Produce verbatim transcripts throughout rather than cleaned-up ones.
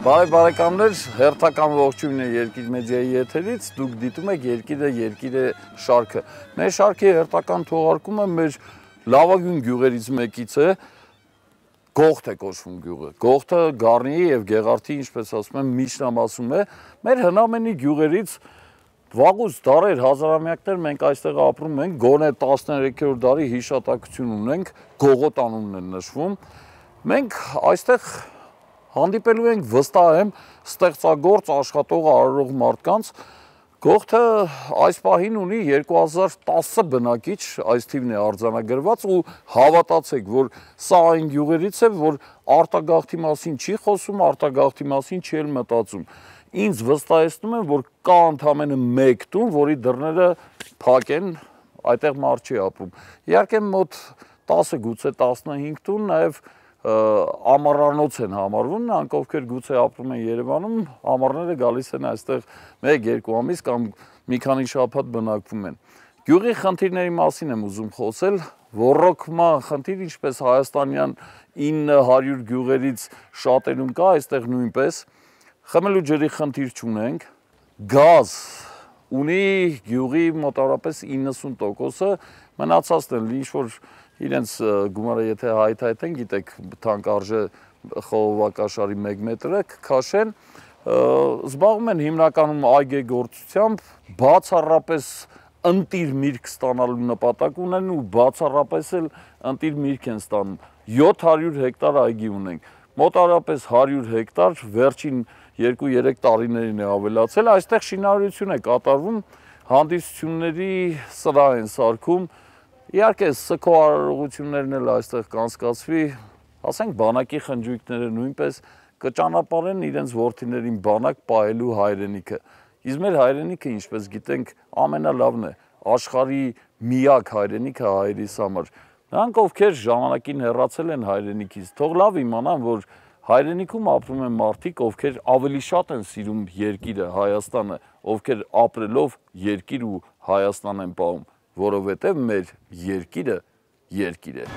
Բարև բարեկամներ, հերթական ողջույն է Երկիր մեդիայի եթերից, դուք դիտում եք Երկիրը, Երկիրը շարքը։ Մեր շարքի հերթական թողարկումը մեր լավագույն գյուղերից մեկից է, Գողթ է կոչվում գյուղը։ Գողթը Գառնիի եւ Գեղարդի, ինչպես ասում եմ, միջնամասում է։ Մեր հնամենի գյուղերից վաղուց դարեր, հազարամյակներ մենք այստեղ ապրում ենք, գոնե տասներեքերորդ դարի հիշատակություն ունենք, Գողոտ անունն է նշվում։ Մենք այստեղ հանդիպելու ենք, վստահ եմ, ստեղծագործ աշխատող արարող մարդկանց։ Գողթը այս պահին ունի երկու հազար տասը բնակիչ, այս թիվն է արձանագրված ու հավատացեք, որ սա այն գյուղերից է, որ արտագաղթի մասին չի խոսում, արտագաղթի մասին չի էլ մտածում։ Ինձ վստահեցնում են, որ կա ընդամենը մեկ տուն, որի դռները փակ են, այդտեղ մարդ չի ապրում։ Իհարկե մոտ տասը, գուցե տասնհինգ տուն նաև ամառանոց են համարվում, նրանք ովքեր գուցե ապրում են Երևանում, ամառները գալիս են այստեղ մեկ-երկու ամիս կամ մի քանի շաբաթ բնակվում են։ Գյուղի խնդիրների մասին եմ ուզում խոսել, ոռոգման խնդիր, ինչպես հայաստանյան ինը հարյուր գյուղերից շատերում կա, այստեղ նույնպես, խմելու ջրի խնդիր չունենք, գազ ունի գյուղի մոտավորապես իննսուն տոկոսը, մնացածն են ինչ-որ իրենց գումարը եթե հայթայթեն, գիտեք, թանկարժե խողովակաշարի մեկ մետրը քաշեն, զբաղվում են հիմնականում այգեգործությամբ, բացառապես ընտիր միրգ ստանալու նպատակ ունեն ու բացառապես էլ ընտիր միրգ են ստանում։ յոթ հարյուր հեկտար այգի ունենք, մոտավորապես հարյուր հեկտար վերջին երկու-երեք տարիներին է ավելացել, այստեղ շինարարություն է կատարվում, հանդիսությունների սրահ են սարքում, իհարկե սգո արարողություններն էլ այստեղ կանցկացվի, ասենք բանակի խնջույքները նույնպես կճանապարհեն իրենց որդիներին բանակ պահելու հայրենիքը։ Իսկ մեր հայրենիքը, ինչպես գիտենք, ամենալավն է, աշխարհի միակ հայրենիքը հայերիս համար։ Նրանք, ովքեր ժամանակին հեռացել են հայրենիքից, թող լավ իմանան, որ հայրենիքում ապրում են մարդիկ, ովքեր ավելի շատ են սիրում երկիրը, Հայաստանը, ովքեր ապրելով երկիր ու Հայաստան են պահում, որովհետև մեր երկիրը երկիր է։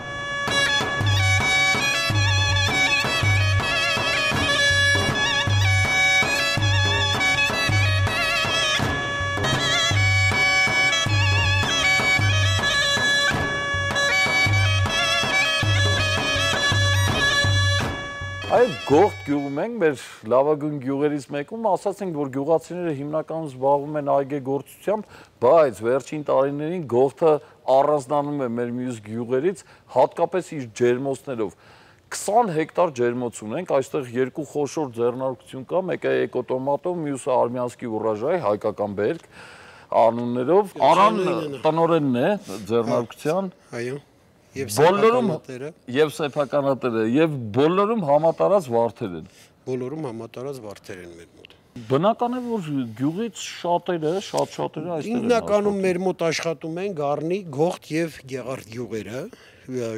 Այդ Գողթ գյուղում ենք, մեր լավագույն գյուղերից մեկում, ասած ենք, որ գյուղացիները հիմնականում զբաղվում են այգեգործությամբ, բայց վերջին տարիներին Գողթը առանձնանում է մեր մյուս գյուղերից, հատկապես իր ջերմոցներով։ քսան հեկտար ջերմոց ունենք, այստեղ երկու խոշոր ձեռնարկություն կա, մեկը Էկոտոմատով, մյուսը Արմյանսկի ուռաժայի, հայկական բերք անուններով, Արան տնօրենն է ձեռնարկության։ Այո։ Բոլորում եւ սեփականատերը եւ բոլորում համատարած վարդեր են։ Բոլորում համատարած վարդեր են մեր մոտ։ Բնական է, որ գյուղից շատերը, շատ-շատերը այստեղ են։ Հիմնականում մեր մոտ աշխատում են Գառնի, Գողթ եւ Գեղարդ գյուղերը,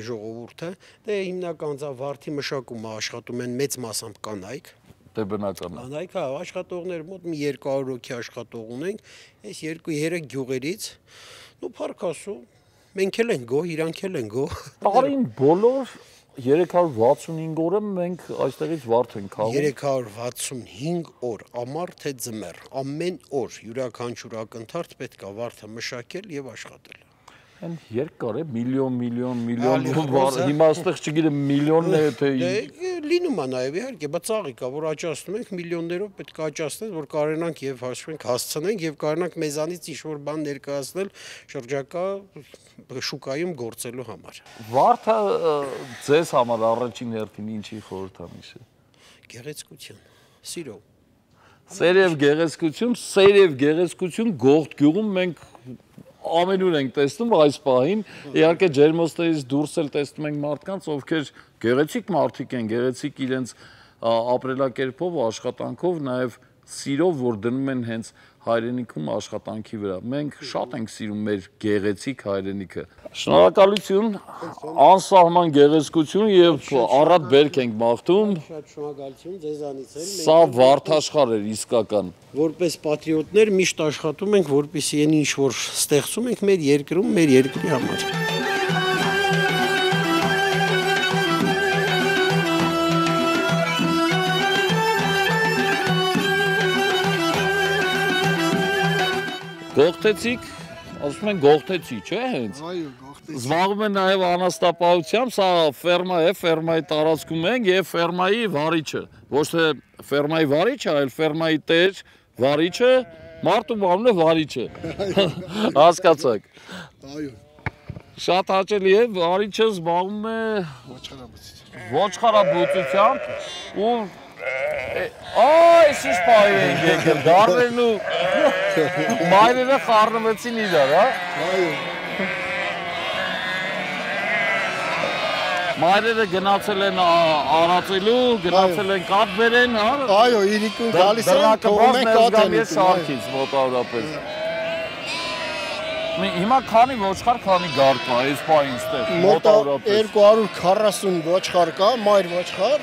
ժողովուրդը, դե հիմնական վարդի մշակումը աշխատում են մեծ մասամբ կանայք։ Դե բնական է։ Կանայք, հա, աշխատողներ մոտ մի երկու հարյուր հոգի աշխատող ունենք, այս երկու-երեք գյուղերից, ու փառք Աստծո, մենք էլ ենք գոհ, իրանք էլ են գոհ։ Տարին բոլոր երեք հարյուր վաթսունհինգ օրը մենք այստեղից վարդ ենք քաղում։ երեք հարյուր վաթսունհինգ օր, ամառ թե ձմեռ, ամեն օր յուրաքանչյուր ակնթարթ պետք է վարդը մշակել եւ աշխատել։ Այն երկար է, միլիոն, միլիոն, միլիոն, հիմա այստեղ չգիտեմ միլիոնն է, թե լինում է նաև իհարկե, բայց ծաղիկ է, որ աճացնում ենք, միլիոններով պետք է աճացնել, որ կարողանանք եւ հաշվենք հասցնենք եւ կարողանանք մեզանից ինչ-որ բան ներկայացնել շրջակա շուկայում գործելու համար։ Վարդը ձեզ համար առաջին հերթին ինչի խորհրդանիշ է։ Գեղեցկություն, սիրո։ Սեր եւ գեղեցկություն, սեր եւ գեղեցկություն Գողթ գյուղում մենք ամենուր ենք տեսնում այս պահին, իհարկե ջերմոցներից դուրս էլ տեսնում ենք մարդկանց, ովքեր գեղեցիկ մարդիկ են, գեղեցիկ իրենց ապրելակերպով, աշխատանքով, նաև սիրով, որ դնում են հենց հայրենիքում աշխատանքի վրա։ Մենք շատ ենք սիրում մեր գեղեցիկ հայրենիքը։ Շնորհակալություն, անսահման գեղեցկություն եւ առատ բերք ենք մաղթում։ Շատ շնորհակալություն ձեզանից էլ։ Սա վարդաշխար էր իսկական։ Որպես պատրիոտներ միշտ աշխատում ենք, որպեսզի այն ինչ որ ստեղծում ենք մեր երկրում, մեր երկրի համար։ Գողթեցիք, ասում են գողթեցի, չէ՞ հենց։ Այո, գողթեցի։ Զբաղվում են նաև անաստապահությամբ, սա ֆերմա է, ֆերմայի տարածքում ենք եւ ֆերմայի վարիչը։ Ոչ թե ֆերմայի վարիչը, այլ ֆերմայի տեր, վարիչը, մարդու անունը վարիչը։ Հասկացաք։ Այո, Շատ հաճելի է, վարիչը զբաղվում է ոչխարաբուծությամբ։ ոչխարաբուծությամբ ու Այ, ինչ պահի ենք եկել, դարներն ու մայրերը խառնվեցին իրար, հա։ Այո։ Մայրերը գնացել են արածելու, գնացել են կաթ բերեն, հա։ Այո, իրիկուն գալիս են, թողում են կաթ են ուտում։ Շարքից մոտավորապես։ Հիմա քանի ոչխար, քանի գար կա, այս պահին ստեղ, մոտավորապես։ երկու հարյուր քառասուն ոչխար կա, մայր ոչխար,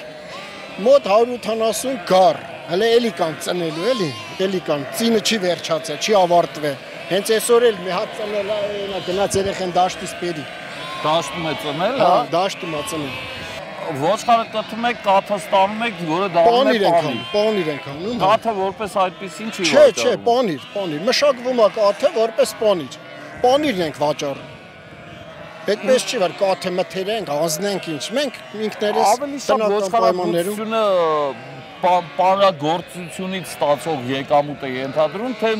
մոտ հարյուր ութանասուն գար։ Հələ էլի կան ծնելու, էլի, էլի կան, ծինը չի վերջացել, չի ավարտվել։ Հենց այսօր էլ մի հատ ծնել է, գնաց երեխեն դաշտից բերի։ Դաշտում է ծնել, Հա, հա։ դաշտում է ծնել։ Ոչխարը կտրում եք, կաթը ստանում եք, որը դառնում է Պանիր ենք պանիր։ անում, պանիր ենք անում։ Կաթը որպես այդպեսին չի Չէ, չէ, վաճառվում։ պանիր, պանիր։ Մշակվում է կաթը որպես պանիր։ Պանիրն ենք վաճառում։ Այդպես չի, որ կաթը մթերենք, ազնենք ինչ։ Մենք ինքներս Ավելի շատ ոչխարաբուծությունը պանրագործությունից ստացող եկամուտ է ենթադրում, թե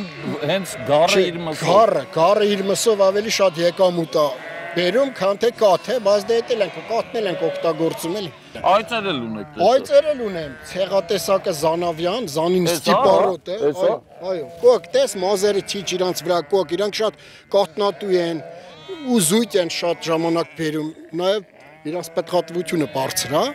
հենց գառը իր մսով։ Գառը, գառը իր մսով ավելի շատ եկամուտ է բերում, քան թե կաթը, բայց դե էլ ենք, կաթն էլ ենք օգտագործում էլի։ Այծեր էլ ունեք դες։ Այծեր էլ ունեմ, ցեղատեսակը Զանավյան, Զանին Էս, Ստիպարոտ է, էս, հա։ այո, այո։ Կոկ, տես մազերը չիչ իրանց վրա կոկ, իրանք շատ կաթնատու են, ու զույգ են շատ ժամանակ բերում, նաև իրանց պետքատվությունը բարձր է։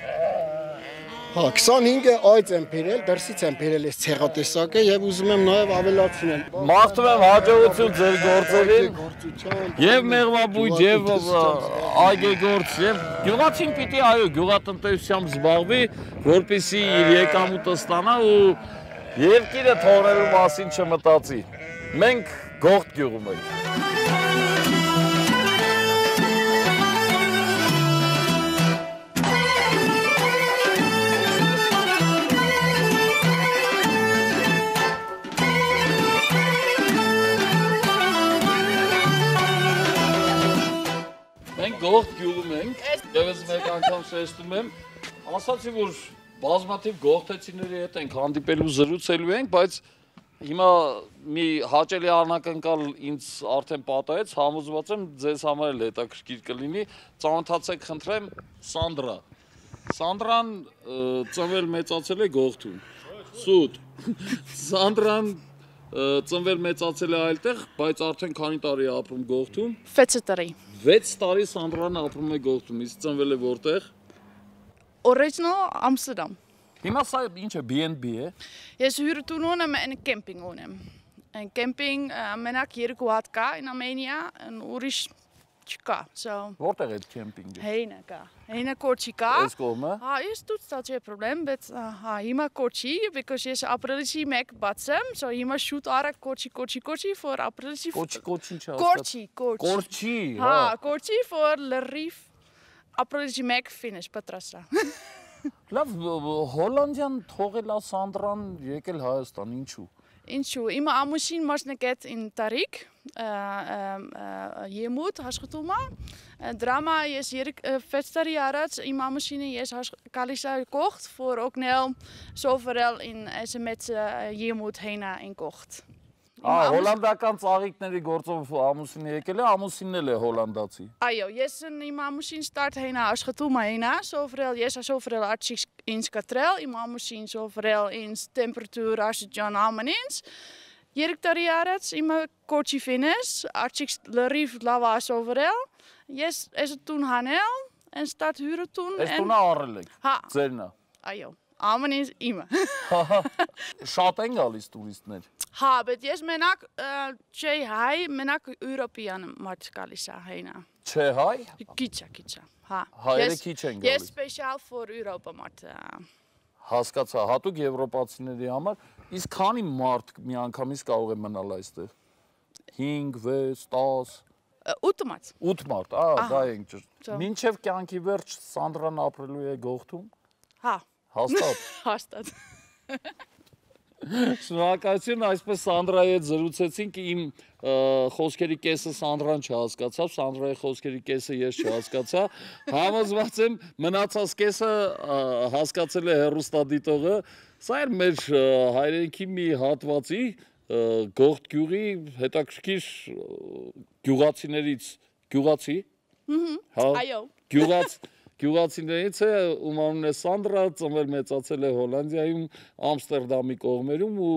Հա, քսանհինգը այծ եմ բերել, դրսից եմ բերել այս ցեղատեսակը եւ ուզում եմ նաև ավելացնել։ Մաղթում եմ հաջողություն ձեր գործերին։ Եվ մեղվաբույջ, եւ այգեգործ, եւ գյուղացին պիտի այո, գյուղատնտեսությամբ զբաղվի, որպեսզի իր եկամուտը ստանա ու երկիրը թողնելու մասին չմտածի։ Մենք Գողթ գյուղում ենք։ Գողթ գյուղում ենք, եւս մեկ անգամ շեշտում եմ, ասացի, որ բազմաթիվ գողթեցիների հետ ենք հանդիպելու, զրուցելու ենք, բայց հիմա մի հաճելի անակնկալ ինձ արդեն պատահեց, համոզված եմ ձեզ համար էլ հետաքրքիր կլինի, ծանոթացեք խնդրեմ Սանդրա։ Սանդրան ծնվել մեծացել է Գողթում։ Սուտ։ Սանդրան ծնվել մեծացել է այլտեղ, բայց արդեն քանի տարի է ապրում Գողթում։ վեց տարի։ վեց տարի Սանդրան ապրում է Գողթում, իսկ ծնվել է որտեղ։ Original Amsterdam։ Հիմա սա ինչ է, B and B է։ Ես հյուրատուն ունեմ and camping ունեմ։ Een camping մենակ երկու հատ կա in Armenia, ուրիշ չկա։ So Որտեղ է քեմպինգը։ Հեինա կա։ Հեինա կորչի կա։ Այս կողմը։ Հա, ես դուց դա չէ problem, բայց հա, հիմա կորչի, because ես ապրիլի մեկ բացեմ, so հիմա շուտ արագ կորչի, կորչի, կորչի for ապրիլի։ Կորչի, կորչի ինչ է։ Կորչի, կորչի։ Կորչի, հա։ Հա, կորչի for լրիվ ապրիլի մեկ finish պատրաստա։ Լավ, Հոլանդիան թողել է Սանդրան, եկել Հայաստան, ինչու։ Ինչու, իմ ամուսին մասնակից in Տարիք, եմուտ աշխատում է, դրամա ես վեց տարի առաջ իմ ամուսինը ես գալիս է Գողթ, որ օգնել սովորել in այս մեծ եմուտ հենա in Գողթ։ Ա, հոլանդական ծաղիկների գործով ամուսինը եկել է, ամուսինն էլ է հոլանդացի։ Այո, ես իմ ամուսին start հենա աշխատում է հենա, սովորել, ես սովորել աչիկ ինձ կտրել, իմ ամուսին սովորել ինձ տեմպերատուր աշճան ամեն ինձ։ Երեք տարի առաջ իմ կոչի ֆինես, աչիկ լրիվ լավ սովորել, ես այս տուն հանել, and start հյուրը տուն։ Այս տունը առել եք։ Հա։ Ձերն է։ Այո, ամեն ինձ իմը։ Շատ են գալիս տուրիստներ։ Հա, բայց ես մենակ չէ հայ, մենակ Եվրոպյան մարդ գալիս է հենա։ Չէ հայ։ Քիչ է, քիչ է։ Հա։ Հայերը քիչ են Ես գալիս։ special for Europe մարդ։ Հասկացա, հատուկ եվրոպացիների համար, իսկ քանի մարդ միանգամից կարող է մնալ այստեղ։ հինգ, վեց, տաս, ութ մարդ։ ութ մարդ, ա, դա ենք ճիշտ։ Մինչև կյանքի վերջ Սանդրան ապրելու է Գողթում։ Հա։ Հաստատ։ Հաստատ։ Շնորհակալություն, այսպես Սանդրայի հետ զրուցեցինք, իմ խոսքերի կեսը Սանդրան չհասկացավ, Սանդրայի խոսքերի կեսը ես չհասկացա, համոզված եմ մնացած կեսը հասկացել է հեռուստադիտողը, սա էր մեր հայրենիքի մի հատվածի Գողթ գյուղի հետաքրքիր գյուղացիներից, գյուղացի? Այո։ Գյուղացիներից է, ում անունն է Սանդրա, ծնվել մեծացել է Հոլանդիայում, Ամստերդամի կողմերում ու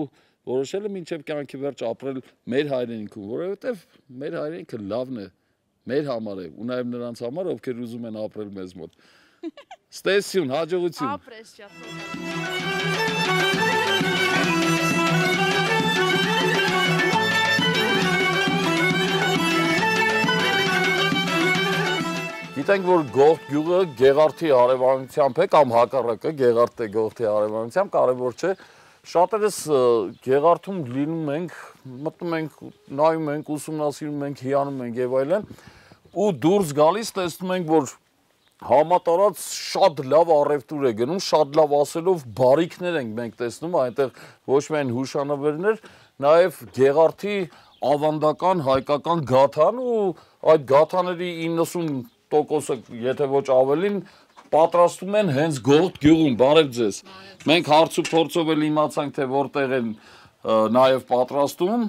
որոշել է մինչև կյանքի վերջ ապրել մեր հայրենիքում, որովհետև մեր հայրենիքը լավն է, մեր համար է ու նաև նրանց համար, ովքեր ուզում են ապրել մեզ մոտ։ Ստեսյուն, հաջողություն։ Ապրես շատ։ Գիտենք, որ Գողթ գյուղը Գեղարդի հարևանությամբ է կամ հակառակը Գեղարդն է Գողթի հարևանությամբ, կարևոր չէ։ Շատերս Գեղարդում լինում ենք, մտնում ենք, նայում ենք, ուսումնասիրում ենք, հիանում ենք եւ այլն, ու դուրս գալիս տեսնում ենք, որ համատարած շատ լավ առևտուր է գնում, շատ լավ ասելով բարիքներ ենք մենք տեսնում, այնտեղ ոչ միայն հուշանվերներ, նաեւ Գեղարդի ավանդական հայկական գաթան ու այդ գաթաների իննսուն տոկոսը, եթե ոչ ավելին, պատրաստում են հենց Գողթ գյուղում, բարև ձեզ։ Մենք հարց ու փորձով էլ իմացանք, թե որտեղ են նաև պատրաստում,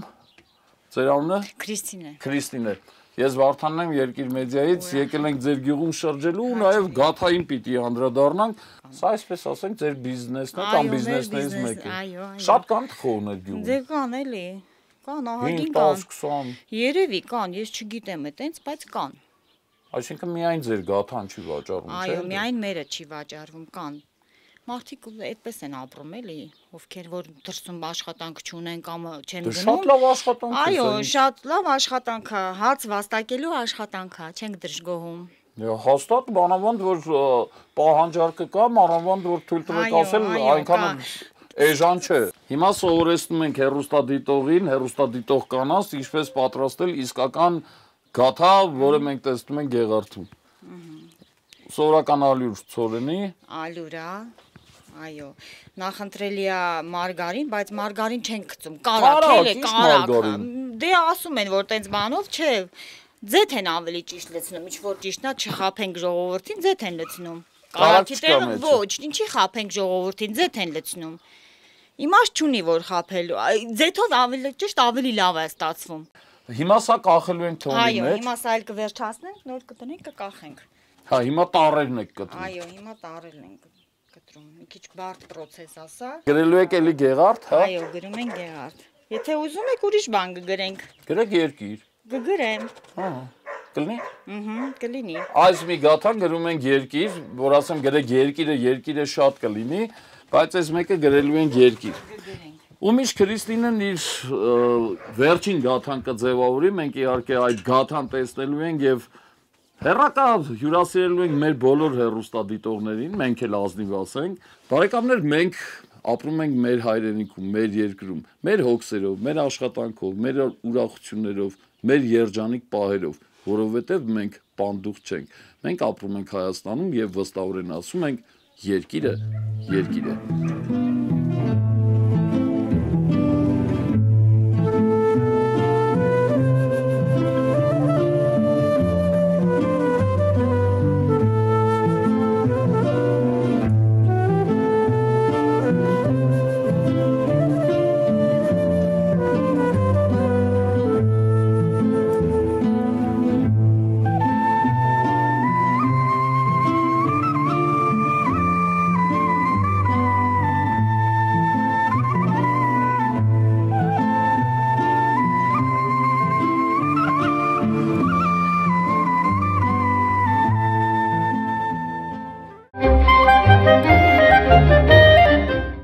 ձեր անունը? Քրիստինե։ Քրիստինե։ Ես Վարդանն եմ Երկիր մեդիայից, եկել ենք ձեր գյուղում շրջելու ու նաև գաթային պիտի անդրադառնանք։ Սա այսպես ասենք ձեր բիզնեսն է կամ բիզնեսներից մեկը։ Շատ կան թխողներ գյուղում։ Դե կան էլի։ Կան, ահագին հինգ, տասը, քսան։ Երևի կան, ես չգիտեմ այտենց, բայց կան։ Այսինքն միայն ձեր գաթան չի վաճառվում, չէ՞։ Այո, միայն մերը չի վաճառվում, կան։ Մարդիկ այդպես են ապրում էլի, ովքեր որ դրսում աշխատանք չունեն կամ չեն գնում։ Շատ լավ աշխատանք է։ Այո, շատ լավ աշխատանք է, հաց վաստակելու աշխատանք է, չենք դժգոհում։ Հաստատ մանավանդ որ պահանջարկը կա, մանավանդ որ թույլ տվեք ասել, այնքան էժան չէ։ Հիմա սովորեցնում ենք հեռուստադիտողին, հեռուստադիտող կանանց, ինչպես պատրաստել իսկական գաթա, որը մենք տեսնում ենք Գեղարդում։ Սովորական ալյուր ցորենի։ Ալյուր է, այո։ Նախընտրելի է մարգարին, բայց մարգարին չեն գցում, կարակ էլ է, կարակ։ Դե ասում են, որ տենց բանով չէ, ձեթ են ավելի ճիշտ լցնում, ինչ որ ճիշտն է, չխափենք ժողովրդին, ձեթ են լցնում։ Կարակի տեղը ոչ, ինչի խափենք ժողովրդին, ձեթ են լցնում։ Իմաստ չունի որ խափելու, ձեթով ավելի ճիշտ ավելի լավ է ստացվում։ Հիմա սա կախելու ենք թողնի մեջ։ Այո, հիմա սա էլ կվերջացնենք, նոր կտնենք, կկախենք։ Հա, հիմա տարերն եք կտրում։ Այո, հիմա տարերն ենք կտրում։ Մի քիչ բարդ process է սա։ Գրելու եք էլի Գեղարդ, հա։ Այո, գրում ենք Գեղարդ։ Եթե ուզում եք ուրիշ բան կգրենք։ Գրեք Երկիր։ Կգրեմ։ Հա։ Կլինի։ Ահա, կլինի։ Այս մի գաթան գրում ենք Երկիր, որ ասեմ գրեք Երկիրը, Երկիրը շատ կլինի, բայց այս մեկը գրելու ենք Երկիր։ Ու միշտ Քրիստինեն իր վերջին գաթան կձևավորի, մենք իհարկե այդ գաթան տեսնելու ենք եւ հեռակա հյուրասիրելու ենք մեր բոլոր հեռուստադիտողներին, մենք էլ ազնիվ ասենք։ Բարեկամներ, մենք ապրում ենք մեր հայրենիքում, մեր երկրում, մեր հոգսերով, մեր աշխատանքով, մեր ուրախություններով, մեր երջանիկ պահերով, որովհետեւ մենք պանդուխ չենք։ Մենք ապրում ենք Հայաստանում եւ վստահորեն ասում ենք երկիրը, երկիր է։ Thank you.